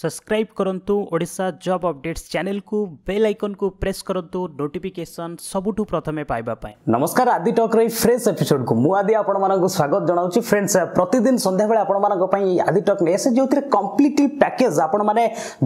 Subscribe କରନ୍ତୁ Odisha job updates ଚ୍ୟାନେଲକୁ, bail ଆଇକନ୍କୁ press କରନ୍ତୁ ନୋଟିଫିକେସନ୍ ସବୁଠୁ ପ୍ରଥମେ ପାଇବା ପାଇଁ। ନମସ୍କାର, ଆଦି ଟକ୍ର ଏଇ ଫ୍ରେଶ୍ ଏପିସୋଡକୁ ମୁଁ ଆଦି ଆପଣମାନଙ୍କୁ ସ୍ୱାଗତ ଜଣାଉଛି। ଫ୍ରେଣ୍ଡସ୍, ପ୍ରତିଦିନ ସନ୍ଧ୍ୟାବେଳେ ଆପଣମାନଙ୍କ ପାଇଁ ଆଦି ଟକ୍ ନେଇ ଆସେ, ଯେଉଁଥିରେ କମ୍ପ୍ଲିଟଲି ପ୍ୟାକେଜ୍ ଆପଣମାନେ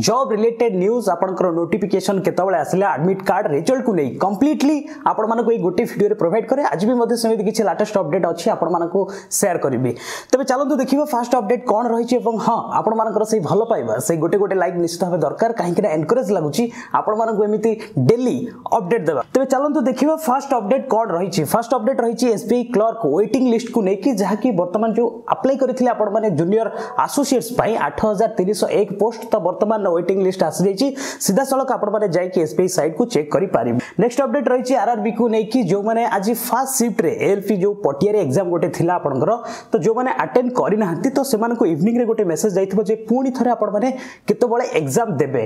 ଜବ୍ ରିଲେଟେଡ୍ ନ୍ୟୁଜ୍, ଆପଣଙ୍କର ନୋଟିଫିକେସନ୍ କେତେବେଳେ ଆସିଲା, ଆଡମିଟ୍ କାର୍ଡ, ରେଜଲ୍ଟକୁ ନେଇ କମ୍ପ୍ଲିଟଲି ଆପଣମାନଙ୍କୁ ଏଇ ଗୋଟେ ଭିଡ଼ିଓରେ ପ୍ରୋଭାଇଡ୍ କରେ। ଆଜି ବି ମଧ୍ୟ ସେମିତି କିଛି ଲାଟେଷ୍ଟ ଅପଡେଟ୍ ଅଛି, ଆପଣମାନଙ୍କୁ ସେୟାର କରିବି। ତେବେ ଚାଲନ୍ତୁ ଦେଖିବା ଫାଷ୍ଟ ଅପଡେଟ୍ କ'ଣ ରହିଛି। ଏବଂ ହଁ, ଆପଣମାନଙ୍କର ସେଇ ଭଲ ପାଇବା, ସେଇ ଗୋଟେ ଗୋଟେ ଲାଇକ୍ ନିଶ୍ଚିତ ଭାବେ ଦରକାର, କାହିଁକିନା ଏନକରେଜ୍ ଲାଗୁଛି ଆପଣମାନଙ୍କୁ ଏମିତି ଡେଲି ଅପଡେଟ୍ ଦେବା। ତେବେ ଚାଲନ୍ତୁ ଦେଖିବା ଫାଷ୍ଟ ଅପଡେଟ୍ କ'ଣ ରହିଛି। ଫାଷ୍ଟ ଅପଡେଟ୍ ରହିଛି ଏସବିଆଇ କ୍ଲର୍କ ୱେଟିଂ ଲିଷ୍ଟକୁ ନେଇକି, ଯାହାକି ବର୍ତ୍ତମାନ ଯେଉଁ ଆପ୍ଲାଏ କରିଥିଲେ ଆପଣମାନେ ଜୁନିୟର ଆସୋସିଏଟ୍ସ ପାଇଁ 8301 ପୋଷ୍ଟ, ତ ବର୍ତ୍ତମାନ ୱେଟିଂ ଲିଷ୍ଟ ଆସିଯାଇଛି। ସିଧାସଳଖ ଆପଣମାନେ ଯାଇକି ଏସବିଆଇ ସାଇଟ୍କୁ ଚେକ୍ କରିପାରିବେ। ନେକ୍ସଟ ଅପଡେଟ୍ ରହିଛି ଆରଆରବି କୁ ନେଇକି, ଯେଉଁମାନେ ଆଜି ଫାଷ୍ଟ ସିଫ୍ଟରେ ଏଏଲପି ଯେଉଁ ପଟିଆରେ ଏକ୍ଜାମ ଗୋଟେ ଥିଲା ଆପଣଙ୍କର, ତ ଯେଉଁମାନେ ଆଟେଣ୍ଡ କରିନାହାନ୍ତି, ତ ସେମାନଙ୍କୁ ଇଭିନିଂରେ ଗୋଟେ ମେସେଜ ଯାଇଥିବ ଯେ ପୁଣି ଥରେ ଆପଣମାନେ କେତେବେଳେ ଏକ୍ଜାମ ଦେବେ।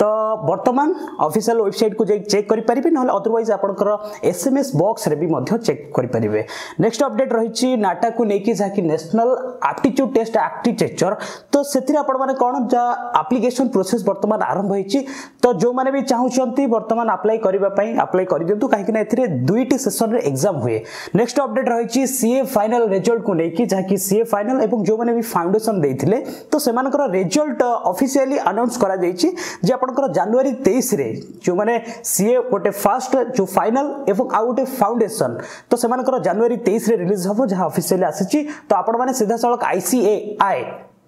ତ ବର୍ତ୍ତମାନ ଅଫିସିଆଲ ୱେବସାଇଟ୍କୁ ଯାଇ ଚେକ୍ କରିପାରିବେ, ନହେଲେ ଅଦରୱାଇଜ୍ ଆପଣଙ୍କର ଏସ୍ଏମ୍ଏସ୍ ବକ୍ସରେ ବି ମଧ୍ୟ ଚେକ୍ କରିପାରିବେ। ନେକ୍ସଟ ଅପଡେଟ୍ ରହିଛି ନାଟାକୁ ନେଇକି, ଯାହାକି ନ୍ୟାସନାଲ ଆପ୍ଟିଚ୍ୟୁଡ୍ ଟେଷ୍ଟ ଆର୍କିଟେକ୍ଚର। ତ ସେଥିରେ ଆପଣମାନେ କ'ଣ ଯାହା ଆପ୍ଲିକେସନ ପ୍ରୋସେସ୍ ବର୍ତ୍ତମାନ ଆରମ୍ଭ ହେଇଛି, ତ ଯେଉଁମାନେ ବି ଚାହୁଁଛନ୍ତି ବର୍ତ୍ତମାନ ଆପ୍ଲାଏ କରିବା ପାଇଁ, ଆପ୍ଲାଏ କରିଦିଅନ୍ତୁ, କାହିଁକିନା ଏଥିରେ ଦୁଇଟି ସେସନରେ ଏକ୍ଜାମ ହୁଏ। ନେକ୍ସଟ ଅପଡେଟ୍ ରହିଛି ସିଏ ଫାଇନାଲ ରେଜଲ୍ଟକୁ ନେଇକି, ଯାହାକି ସିଏ ଫାଇନାଲ ଏବଂ ଯେଉଁମାନେ ବି ଫାଉଣ୍ଡେସନ ଦେଇଥିଲେ, ତ ସେମାନଙ୍କର ରେଜଲ୍ଟ ଅଫିସିଆଲି ଆନାଉନ୍ସ କରାଯାଇଛି ଯେ ଆପଣଙ୍କର ଜାନୁଆରୀ 23ରେ ଯେଉଁମାନେ ସିଏ ଗୋଟେ ଫାଷ୍ଟ ଯେଉଁ ଫାଇନାଲ ଏବଂ ଆଉ ଗୋଟେ ଫାଉଣ୍ଡେସନ, ତ ସେମାନଙ୍କର ଜାନୁଆରୀ 23ରେ ରିଲିଜ ହେବ, ଯାହା ଅଫିସିଆଲି ଆସିଛି। ତ ଆପଣମାନେ ସିଧାସଳଖ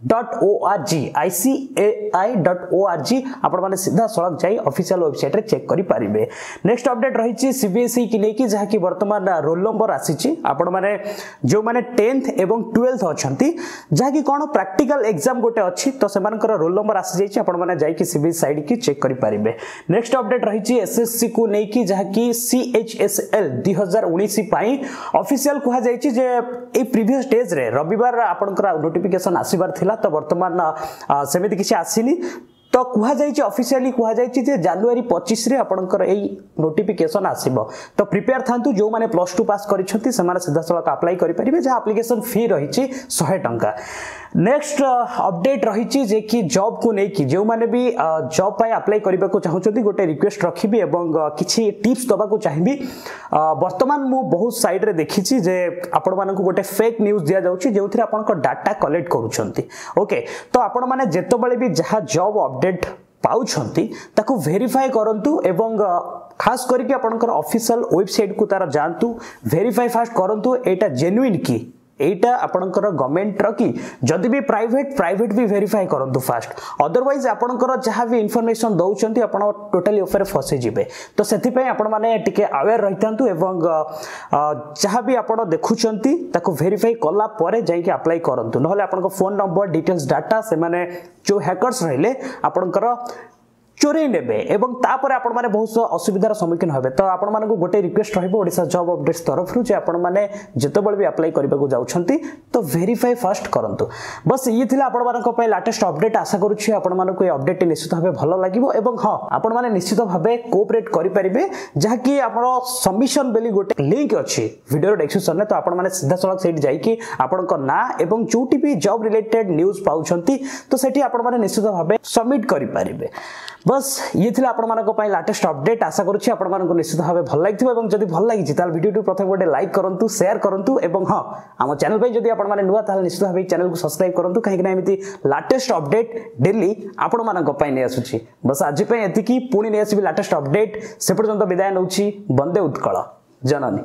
ICAI.org, ICAI.org, ଆପଣମାନେ ସିଧାସଳଖ ଯାଇ ଅଫିସିଆଲ ୱେବସାଇଟ୍ରେ ଚେକ୍ କରିପାରିବେ। ନେକ୍ସଟ ଅପଡେଟ୍ ରହିଛି ସିବିଏସ୍ଇ କି ନେଇକି, ଯାହାକି ବର୍ତ୍ତମାନ ରୋଲ୍ ନମ୍ବର ଆସିଛି। ଆପଣମାନେ ଯେଉଁମାନେ 10th ଏବଂ 12th ଅଛନ୍ତି, ଯାହାକି କ'ଣ ପ୍ରାକ୍ଟିକାଲ ଏକ୍ଜାମ ଗୋଟେ ଅଛି, ତ ସେମାନଙ୍କର ରୋଲ୍ ନମ୍ବର ଆସିଯାଇଛି, ଆପଣମାନେ ଯାଇକି ସିବିଏସ୍ଇ ସାଇଟ୍କି ଚେକ୍ କରିପାରିବେ। ନେକ୍ସଟ ଅପଡେଟ୍ ରହିଛି ଏସ୍ଏସ୍ସି କୁ ନେଇକି, ଯାହାକି ସିଏଚଏସ୍ଏଲ୍ 2019 ପାଇଁ ଅଫିସିଆଲ କୁହାଯାଇଛି ଯେ ଏଇ ପ୍ରିଭିୟସ୍ ଡେଜ୍ରେ ରବିବାର ଆପଣଙ୍କର ନୋଟିଫିକେସନ୍ ଆସିବାର ଥିଲା, ତ ବର୍ତ୍ତମାନ ସେମିତି କିଛି ଆସିନି। ତ କୁହାଯାଇଛି, ଅଫିସିଆଲି କୁହାଯାଇଛି ଯେ ଜାନୁଆରୀ 25ରେ ଆପଣଙ୍କର ଏଇ ନୋଟିଫିକେସନ୍ ଆସିବ। ତ ପ୍ରିପେୟାର ଥାନ୍ତୁ। ଯେଉଁମାନେ +2 ପାସ୍ କରିଛନ୍ତି, ସେମାନେ ସିଧାସଳଖ ଆପ୍ଲାଏ କରିପାରିବେ, ଯାହା ଆପ୍ଲିକେସନ୍ ଫି ରହିଛି 100 ଟଙ୍କା। ନେକ୍ସଟ ଅପଡେଟ୍ ରହିଛି ଯେ କି ଜବ୍କୁ ନେଇକି, ଯେଉଁମାନେ ବି ଜବ୍ ପାଇଁ ଆପ୍ଲାଏ କରିବାକୁ ଚାହୁଁଛନ୍ତି, ଗୋଟେ ରିକ୍ୱେଷ୍ଟ ରଖିବି ଏବଂ କିଛି ଟିପ୍ସ ଦେବାକୁ ଚାହିଁବି। ବର୍ତ୍ତମାନ ମୁଁ ବହୁତ ସାଇଡ଼୍ରେ ଦେଖିଛି ଯେ ଆପଣମାନଙ୍କୁ ଗୋଟେ ଫେକ୍ ନ୍ୟୁଜ୍ ଦିଆଯାଉଛି, ଯେଉଁଥିରେ ଆପଣଙ୍କ ଡାଟା କଲେକ୍ଟ କରୁଛନ୍ତି। ଓକେ, ତ ଆପଣମାନେ ଯେତେବେଳେ ବି ଯାହା ଜବ୍ ଅପଡେଟ୍ ପାଉଛନ୍ତି, ତାକୁ ଭେରିଫାଏ କରନ୍ତୁ ଏବଂ ଖାସ କରିକି ଆପଣଙ୍କର ଅଫିସିଆଲ ୱେବସାଇଟ୍କୁ ତାର ଯାଆନ୍ତୁ, ଭେରିଫାଏ ଫାଷ୍ଟ କରନ୍ତୁ ଏଇଟା ଜେନ୍ୟୁଇନ୍ କି, ଏଇଟା ଆପଣଙ୍କର ଗଭର୍ଣ୍ଣମେଣ୍ଟର କି। ଯଦି ବି ପ୍ରାଇଭେଟ, ପ୍ରାଇଭେଟ ବି ଭେରିଫାଏ କରନ୍ତୁ ଫାଷ୍ଟ। ଅଦରୱାଇଜ୍ ଆପଣଙ୍କର ଯାହା ବି ଇନଫର୍ମେସନ୍ ଦେଉଛନ୍ତି, ଆପଣ ଟୋଟାଲି ଉପରେ ଫସିଯିବେ। ତ ସେଥିପାଇଁ ଆପଣମାନେ ଟିକେ ଆୱେର୍ ରହିଥାନ୍ତୁ ଏବଂ ଯାହା ବି ଆପଣ ଦେଖୁଛନ୍ତି, ତାକୁ ଭେରିଫାଇ କଲା ପରେ ଯାଇକି ଆପ୍ଲାଏ କରନ୍ତୁ। ନହେଲେ ଆପଣଙ୍କ ଫୋନ୍ ନମ୍ବର, ଡିଟେଲ୍ସ, ଡାଟା ସେମାନେ ଯେଉଁ ହ୍ୟାକର୍ସ ରହିଲେ, ଆପଣଙ୍କର ଚୋରେଇ ନେବେ ଏବଂ ତାପରେ ଆପଣମାନେ ବହୁତ ଅସୁବିଧାର ସମ୍ମୁଖୀନ ହେବେ। ତ ଆପଣମାନଙ୍କୁ ଗୋଟେ ରିକ୍ୱେଷ୍ଟ ରହିବ ଓଡ଼ିଶା ଜବ୍ ଅପଡେଟ୍ସ ତରଫରୁ ଯେ ଆପଣମାନେ ଯେତେବେଳେ ବି ଆପ୍ଲାଏ କରିବାକୁ ଯାଉଛନ୍ତି, ତ ଭେରିଫାଏ ଫାଷ୍ଟ କରନ୍ତୁ। ବସ୍, ଇଏ ଥିଲା ଆପଣମାନଙ୍କ ପାଇଁ ଲାଟେଷ୍ଟ ଅପଡେଟ୍। ଆଶା କରୁଛି ଆପଣମାନଙ୍କୁ ଏ ଅପଡେଟ୍ଟି ନିଶ୍ଚିତ ଭାବେ ଭଲ ଲାଗିବ ଏବଂ ହଁ, ଆପଣମାନେ ନିଶ୍ଚିତ ଭାବେ କୋଅପରେଟ୍ କରିପାରିବେ, ଯାହାକି ଆମର ସବମିଶନ ବୋଲି ଗୋଟେ ଲିଙ୍କ ଅଛି ଭିଡ଼ିଓର ଡେସ୍କ୍ରିପସନରେ। ତ ଆପଣମାନେ ସିଧାସଳଖ ସେଇଠି ଯାଇକି ଆପଣଙ୍କ ନାଁ ଏବଂ ଯେଉଁଠି ବି ଜବ୍ ରିଲେଟେଡ୍ ନ୍ୟୁଜ୍ ପାଉଛନ୍ତି, ତ ସେଠି ଆପଣମାନେ ନିଶ୍ଚିତ ଭାବେ ସବମିଟ୍ କରିପାରିବେ। ବସ୍, ଇଏ ଥିଲା ଆପଣମାନଙ୍କ ପାଇଁ ଲାଟେଷ୍ଟ ଅପଡେଟ୍। ଆଶା କରୁଛି ଆପଣମାନଙ୍କୁ ନିଶ୍ଚିତ ଭାବେ ଭଲ ଲାଗିଥିବ ଏବଂ ଯଦି ଭଲ ଲାଗିଛି, ତାହେଲେ ଭିଡ଼ିଓଟି ପ୍ରଥମେ ଗୋଟେ ଲାଇକ୍ କରନ୍ତୁ, ସେୟାର କରନ୍ତୁ ଏବଂ ହଁ, ଆମ ଚ୍ୟାନେଲ ପାଇଁ ଯଦି ଆପଣମାନେ ନୂଆ, ତାହେଲେ ନିଶ୍ଚିତ ଭାବେ ଚ୍ୟାନେଲକୁ ସବସ୍କ୍ରାଇବ୍ କରନ୍ତୁ, କାହିଁକିନା ଏମିତି ଲାଟେଷ୍ଟ ଅପଡେଟ୍ ଡେଲି ଆପଣମାନଙ୍କ ପାଇଁ ନେଇ ଆସୁଛି। ବସ୍, ଆଜି ପାଇଁ ଏତିକି। ପୁଣି ନେଇ ଆସିବି ଲାଟେଷ୍ଟ ଅପଡେଟ୍, ସେ ପର୍ଯ୍ୟନ୍ତ ବିଦାୟ ନେଉଛି। ବନ୍ଦେ ଉତ୍କଳ ଜନନୀ।